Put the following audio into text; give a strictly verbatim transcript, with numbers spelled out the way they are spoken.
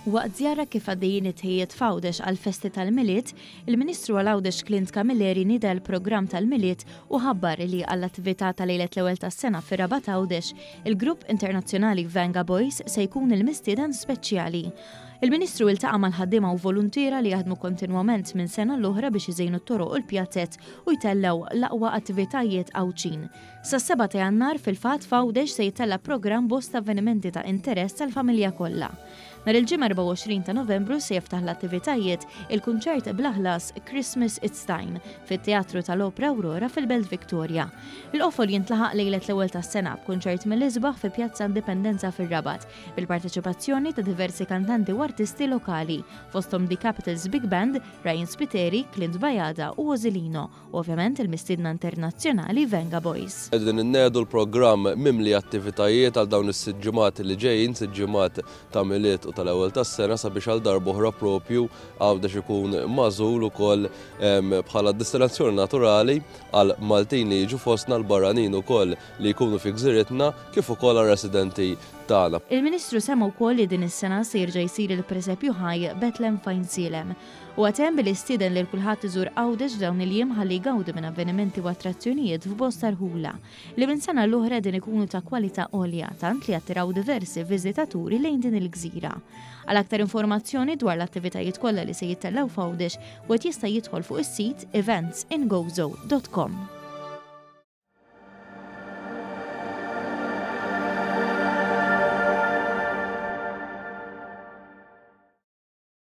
Waqt żjara kif għaddejjin it-tħejjijiet f'Għawdex għall-festi tal-Milied, il-Ministru għal Għawdex Clint Camilleri nieda l-programm tal-Milied u ħabbar li għall-attività ta' lejlet l-ewwel tas-sena fir-Rabat Għawdex, il-grupp internazzjonali Vengaboys se jkun il-mistieden speċjali. Il-Ministru iltaqa' mal-ħaddiema u voluntiera li jaħdmu kontinwament minn sena l-oħra biex iżejnu t-toroq u l-pjazzett u jtellgħu l-aqwa attivitajiet Għawdxin. Sas-seba' ta' Jannar fil-fatt f'Għawdex se jitella' programm bosta avvenimenti ta' interess tal-familja kollha. Nhar il-Ġimgħa erbgħa u għoxrin ta' Novembru se jiftaħ l-attivitajiet il-kunċert bla ħlas Christmas It's Time fit-Teatru tal-Opra Aurora fil-Belt Victoria. Il-qofol jintlaħaq lejlet l-ewwel tas-sena b'kunċert mill-isbaħ fi Pjazza Indipendenza fir-Rabat bil-parteċipazzjoni ta' diversi kantanti u artisti lokali fosthom The Capitals Big Band, Ryan Spiteri, Clint Bajada u Ozilino u ovvjament il-mistiedna internazzjonali Vengaboys. Qegħdin innedu l-programm mimli attivitajiet għal dawn is-sitt ġimgħat li ġejjin, sitt ġimgħat ta' Milied u tal-ewwel tas-sena, sabiex għal darb'oħra propju Għawdex ikun magħżul ukoll bħala destinazzjoni naturali għal Maltin li jiġu fostna, l-barranin ukoll li jkunu fi gżiritna, kif ukoll għal residenti tagħna. Il-Ministru semma wkoll li din is-sena se jerġa' jsir il-presepju ħaj Betlem f'Għajnsielem. U għatem billi stieden lil kulħadd iżur Għawdex dawn il-jiem ħalli jgawdu minn avvenimenti u attrazzjonijiet f'bosta rħula li minn sena l-oħra din ikunu ta' kwalità għolja tant li attiraw diversi viżitaturi lejn din il-gżira. Għal aktar informazzjoni dwar l-attivitajiet kollha li se jittellgħu f'Għawdex, wieħed jista' jidħol fuq is-sit eventsingozo dot com.